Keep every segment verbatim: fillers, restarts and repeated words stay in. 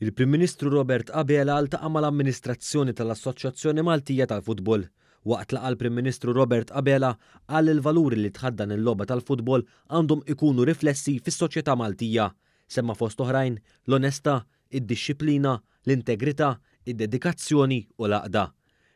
Il-Prim Ministru Robert Abela ltaqa' mal-amministrazzjoni tal-Assoċjazzjoni Maltija tal-Futbol. Waqt laqgħa, l-Prim Ministru Robert Abela qal li l-valuri li tħaddan il-logħba tal-futbol għandhom ikunu riflessi fis-soċjetà Maltija. Semma fost oħrajn l-onestà, id-dixxiplina, l-integrità, id-dedikazzjoni u l-għaqda.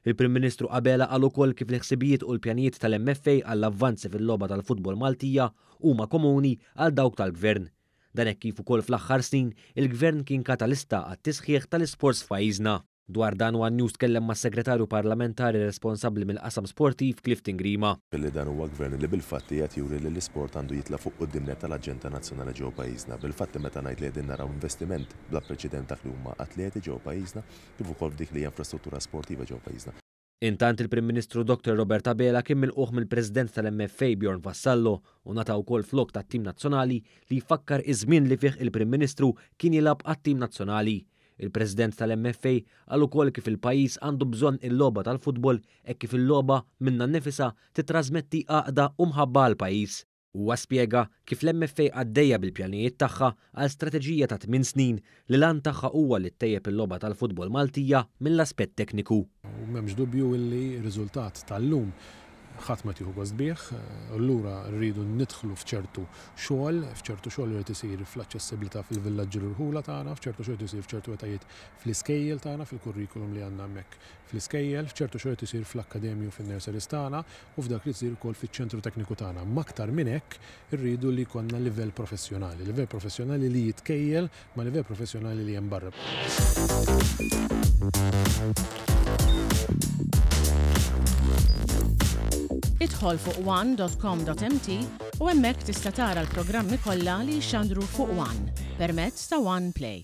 Il-Prim Ministru Abela qal ukoll kif l-ħsibijiet u l-pjanijiet tal-M F A għall-avvanzi fil-logħba tal-futbol Maltija huma komuni għal dawk tal-Gvern. Dan hekk kif ukoll fl-aħħar snin il-Gvern kien katalista għat-tisħiħ tal-isports f'pajjiżna. Dwar dan, One News tkellem mas-segretarju parlamentari responsabbli mill-qasam sportiv, Clifton Grima. Billi dan huwa gvern li bil-fatti qed juri li l-isport għandu jitla' fuq quddiem tal-aġenda nazzjonali ġewwa pajjiżna. Bil-fatti meta ngħid li qegħdin naraw investiment bla preċedent dak li huma atleti ġewwa pajjiżna, kif ukoll f'dik li hija infrastruttura sportiva ġewwa pajjiżna. Intant, il-Prim Ministru Doktor Robert Abela kien milqugħ mill-President tal-M F A Bjorn Vassallo u ngħata wkoll flok tat-tim nazzjonali li jfakkar iż-żmien li fih il-Prim Ministru kien jilgħab għat-tim nazzjonali. Il-President tal-M F A qal ukoll kif il-pajjiż għandu bżonn il-logħba tal-futbol e kif il-logħba minnha nnifisha titrasmetti għaqda u mħabba għall-pajjiż. Huwa spjega kif l-M F A għaddejja bil-pjanijiet tagħha għal strateġija ta' tmien snin li l-għan tagħha huwa li ttejjeb il-logħba tal-futbol Maltija mill-aspett tekniku. U m'hemmx dubju illi r-riżultat tal-lum ħadd ma tieħu gost bih, allura rridu nidħlu f'ċertu xogħol, f'ċertu xogħol li jrid isir fl-aċċessibilità fil-villaġġi l-irħula tagħna, f'ċertu xogħol isir f'ċertu etajiet fl-iskejjel tagħna, fil-kurrikulum li għandna hemmhekk fl-iskejjel, f'ċertu xogħol isir fl-akkademju, fin-nurseries tagħna u f'dak li jsir ukoll fiċ-ċentru tekniku tagħna. Aktar minn hekk, irridu li jkollna livell professjonali, livell professjonali li jitkejjel ma' livell professjonali li hemm barra. Idħol fuq one dot com dot M T u hemmhekk tista' tara l-programmi kollha li jxandru fuq One permezz ta' One Play.